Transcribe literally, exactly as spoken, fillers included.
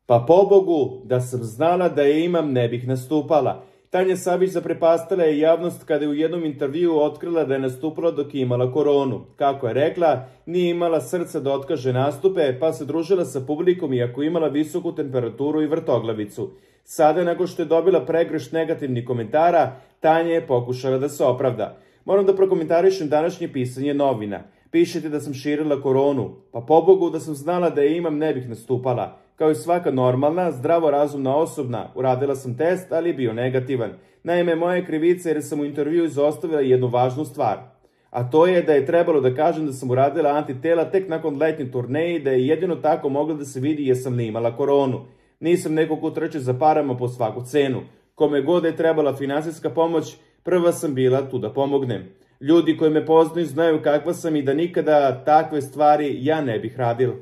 Pa pobogu, da sam znala da je imam, ne bih nastupala. Tanja Savić zaprepastila je javnost kada je u jednom intervjuu otkrila da je nastupala dok je imala koronu. Kako je rekla, nije imala srca da otkaže nastupe, pa se družila sa publikom iako imala visoku temperaturu i vrtoglavicu. Sada, nakon što je dobila pregršt negativnih komentara, Tanja je pokušala da se opravda. Moram da prokomentarišem današnje pisanje novina. Pišete da sam širila koronu. Pa pobogu, da sam znala da je imam, ne bih nastupala. Kao i svaka normalna, zdravorazumna osobna, uradila sam test, ali je bio negativan. Naime, moja je krivica jer sam u intervjuu izostavila jednu važnu stvar. A to je da je trebalo da kažem da sam uradila antitela tek nakon letnje turneje i da je jedino tako mogla da se vidi jesam li imala koronu. Nisam neko ko trče za parama po svaku cenu. Kome god je trebala finansijska pomoć, prva sam bila tu da pomognem. Ljudi koji me poznaju znaju kakva sam i da nikada takve stvari ja ne bih radila.